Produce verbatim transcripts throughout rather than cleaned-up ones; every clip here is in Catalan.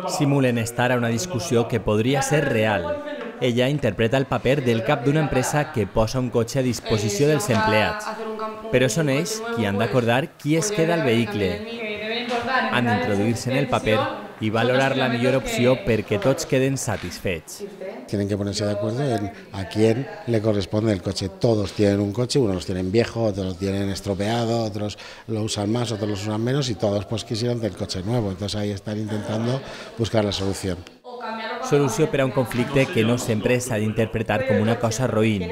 Simulen estar a una discussió que podria ser real. Ella interpreta el paper del cap d'una empresa que posa un cotxe a disposició dels empleats. Però són ells qui han d'acordar qui es queda al vehicle. Han d'introduir-se en el paper y valorar la mejor opción perquè tots queden satisfets. Tienen que ponerse de acuerdo en a quién le corresponde el coche. Todos tienen un coche, unos los tienen viejo, otros lo tienen estropeado, otros lo usan más, otros lo usan menos y todos pues quisieran del coche nuevo. Entonces ahí están intentando buscar la solución. Solució per a un conflicte que no sempre s'ha d'interpretar com una cosa roïn.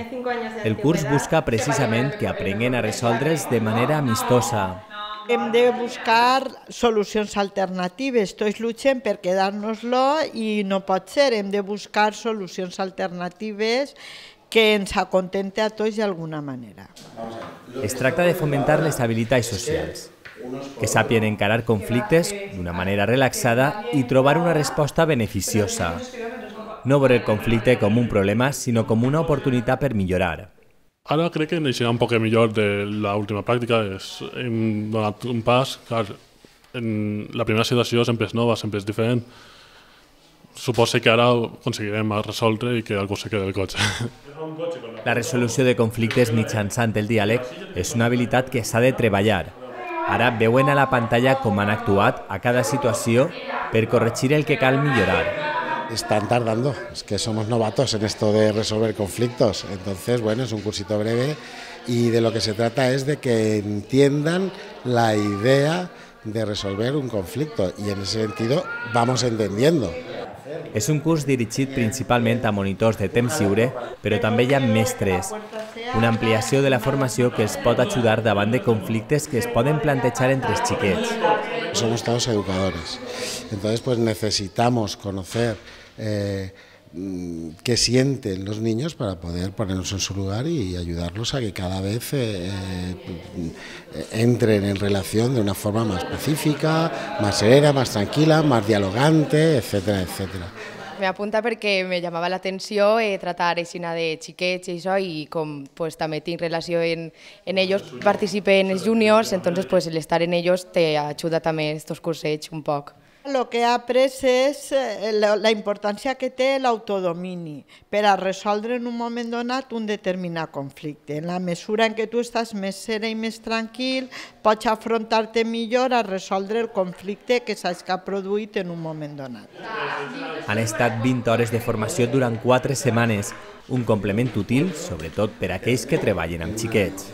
El curs busca precisament que aprenguen a resoldre'ls de manera amistosa. Hem de buscar solucions alternatives, tots lluitem per quedar-nos-lo i no pot ser, hem de buscar solucions alternatives que ens acontente a tots d'alguna manera. Es tracta de fomentar les habilitats socials, que sàpien encarar conflictes d'una manera relaxada i trobar una resposta beneficiosa. No veure el conflicte com un problema, sinó com una oportunitat per millorar. Ara crec que n'eixirà un poc millor de l'última pràctica. Hem donat un pas, clar, en la primera situació sempre és nova, sempre és diferent. Suposo que ara aconseguirem resoldre i que algú se quedi el cotxe. La resolució de conflictes mitjançant el diàleg és una habilitat que s'ha de treballar. Ara veuen a la pantalla com han actuat a cada situació per corregir el que cal millorar. Están tardando, es que somos novatos en esto de resolver conflictos, entonces bueno, es un cursito breve y de lo que se trata es de que entiendan la idea de resolver un conflicto y en ese sentido vamos entendiendo. És un curs dirigit principalment a monitors de temps lliure, però també hi ha mestres, una ampliació de la formació que els pot ajudar davant de conflictes que es poden plantejar entre els xiquets. Somos todos educadores, entonces pues necesitamos conocer eh, qué sienten los niños para poder ponernos en su lugar y ayudarlos a que cada vez eh, eh, entren en relación de una forma más pacífica, más serena, más tranquila, más dialogante, etcétera, etcétera. Me apunta perquè me llamava l'atenció eh, tratar aixina de xiquets i això, i com pues, també tinc relació en, en ells, participe en els juniors, entonces pues, el estar en ells te ajuda també estos cursets un poc. El que he après és la importància que té l'autodomini per a resoldre en un moment donat un determinat conflicte. En la mesura en què tu estàs més serè i més tranquil, pots afrontar-te millor a resoldre el conflicte que saps que ha produït en un moment donat. Han estat vint hores de formació durant quatre setmanes, un complement útil, sobretot per a aquells que treballen amb xiquets.